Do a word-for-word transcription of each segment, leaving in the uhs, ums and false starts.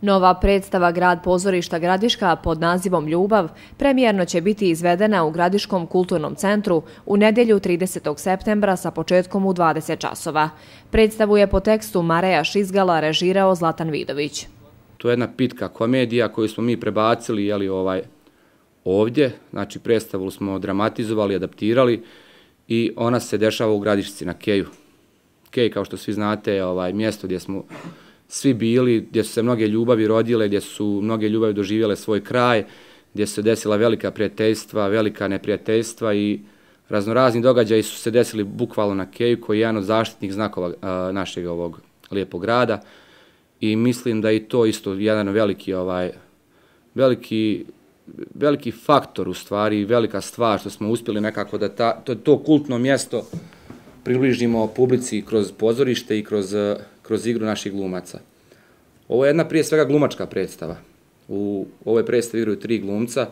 Nova predstava Grad pozorišta Gradiška pod nazivom Ljubav premijerno će biti izvedena u Gradiškom kulturnom centru u nedjelju tridesetog septembra sa početkom u dvadeset časova. Predstavu je po tekstu Mareja Šizgala režirao Zlatan Vidović. To je jedna pitka komedija koju smo mi prebacili jeli, ovaj, ovdje, znači predstavu smo dramatizovali, adaptirali i ona se dešava u Gradišci na Keju. Kej, kao što svi znate, je ovaj, mjesto gdje smo svi bili, gdje su se mnoge ljubavi rodile, gdje su mnoge ljubavi doživjele svoj kraj, gdje su se desila velika prijateljstva, velika neprijateljstva i raznorazni događaji su se desili bukvalno na Keju, koji je jedan od zaštitnih znakova a, našeg ovog lijepog grada. I mislim da je to isto jedan veliki, ovaj, veliki, veliki faktor u stvari, velika stvar što smo uspjeli nekako da ta, to, to kultno mjesto približimo publici kroz pozorište i kroz, kroz igru naših glumaca. Ovo je jedna prije svega glumačka predstava. U ovoj predstavi igraju tri glumca.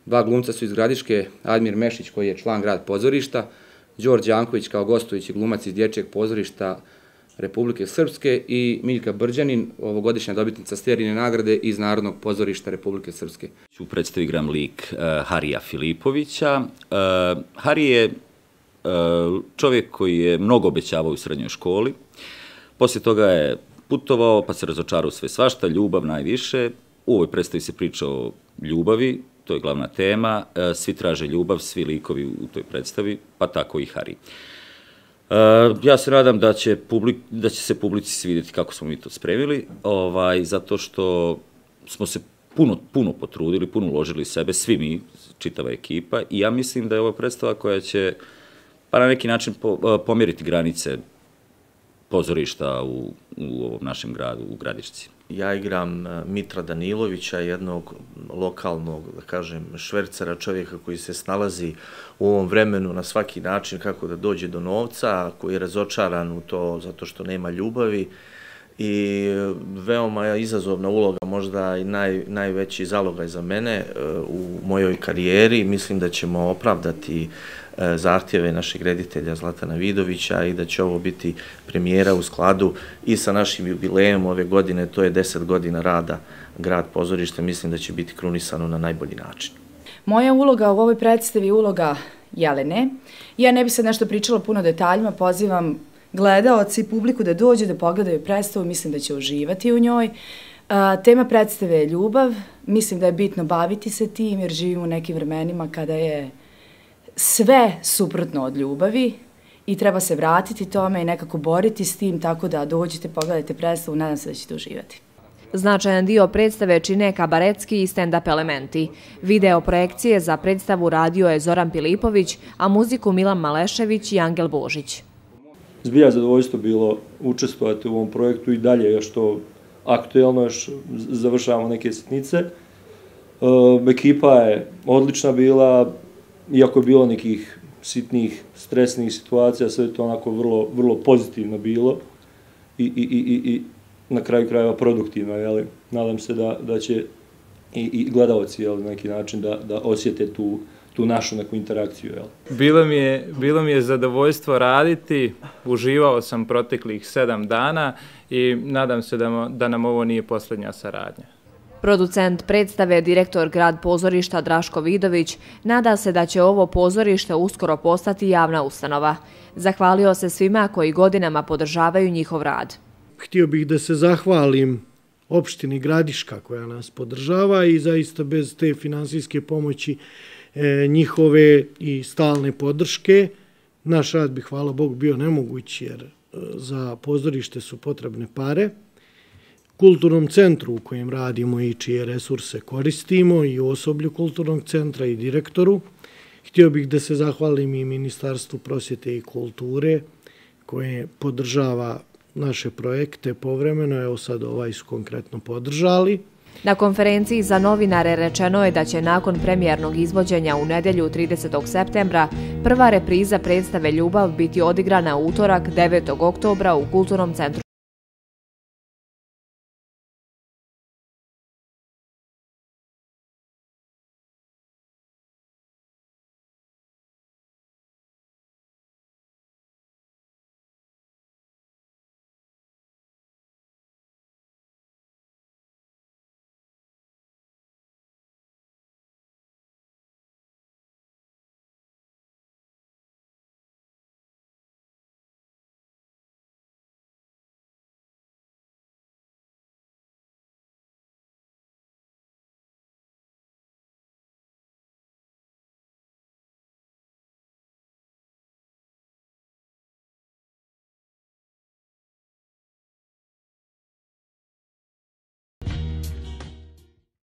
Dva glumca su iz Gradiške, Admir Mešić koji je član Grad pozorišta, Đorđe Janković kao gostujući glumac iz Dječjeg pozorišta Republike Srpske i Miljka Brđanin, ovogodišnja dobitnica Stjerine nagrade iz Narodnog pozorišta Republike Srpske. U predstavi igram lik uh, Harija Filipovića. Uh, Hari je uh, čovjek koji je mnogo obećavao u srednjoj školi. Poslije toga je putovao, pa se razočarao sve svašta, ljubav najviše. U ovoj predstavi se priča o ljubavi, to je glavna tema. Uh, svi traže ljubav, svi likovi u toj predstavi, pa tako i Hari. Uh, ja se nadam da će, publik, da će se publici svidjeti kako smo mi to spremili, ovaj, zato što smo se puno, puno potrudili, puno uložili sebe, svi mi, čitava ekipa, i ja mislim da je ovo predstava koja će pa na neki način po, pomjeriti granice pozorišta u, u ovom našem gradu, u Gradišci. Ja igram Mitra Danilovića, jednog lokalnog, da kažem, švercera, čovjeka koji se snalazi u ovom vremenu na svaki način kako da dođe do novca, koji je razočaran u to zato što nema ljubavi i veoma izazovna uloga, možda i naj, najveći zalogaj za mene u mojoj karijeri. Mislim da ćemo opravdati zahtjeve našeg reditelja Zlatana Vidovića i da će ovo biti premijera u skladu i sa našim jubilejem ove godine, to je deset godina rada Grad pozorišta, mislim da će biti krunisano na najbolji način. Moja uloga u ovoj predstavi je uloga Jelene. Ja ne bih sad nešto pričala puno detaljima, pozivam gledaoci i publiku da dođe, da pogledaju predstavu, mislim da će uživati u njoj. Tema predstave je ljubav, mislim da je bitno baviti se tim jer živimo u nekim vremenima kada je sve suprotno od ljubavi i treba se vratiti tome i nekako boriti s tim, tako da dođite, pogledajte predstavu, nadam se da ćete uživati. Značajan dio predstave čine kabaretski i stand-up elementi. Video projekcije za predstavu radio je Zoran Pilipović, a muziku Milan Malešević i Angel Božić. Zbilja zadovoljstvo bilo učestvovati u ovom projektu i dalje još to aktuelno, još završavamo neke sitnice. E, ekipa je odlična bila, iako je bilo nekih sitnih, stresnih situacija, sve je to onako vrlo, vrlo pozitivno bilo i, i, i, i na kraju krajeva produktivno. Jeli? Nadam se da, da će i, i gledalci jeli, na neki način da, da osjete tu, tu našu neku interakciju. Jeli? Bilo mi je, bilo mi je zadovoljstvo raditi, uživao sam proteklih sedam dana i nadam se da, da nam ovo nije posljednja saradnja. Producent predstave, direktor Grad pozorišta Draško Vidović, nada se da će ovo pozorište uskoro postati javna ustanova. Zahvalio se svima koji godinama podržavaju njihov rad. Htio bih da se zahvalim opštini Gradiška koja nas podržava i zaista bez te finansijske pomoći e, njihove i stalne podrške naš rad bi, hvala Bogu, bio nemoguć jer e, za pozorište su potrebne pare. Kulturnom centru u kojem radimo i čije resurse koristimo i osoblju kulturnog centra i direktoru. Htio bih da se zahvalim i Ministarstvu prosvjete i kulture koje podržava naše projekte povremeno, evo sad ovaj su konkretno podržali. Na konferenciji za novinare rečeno je da će nakon premijernog izvođenja u nedjelju tridesetog septembra prva repriza predstave Ljubav biti odigrana u utorak devetog oktobra u Kulturnom centru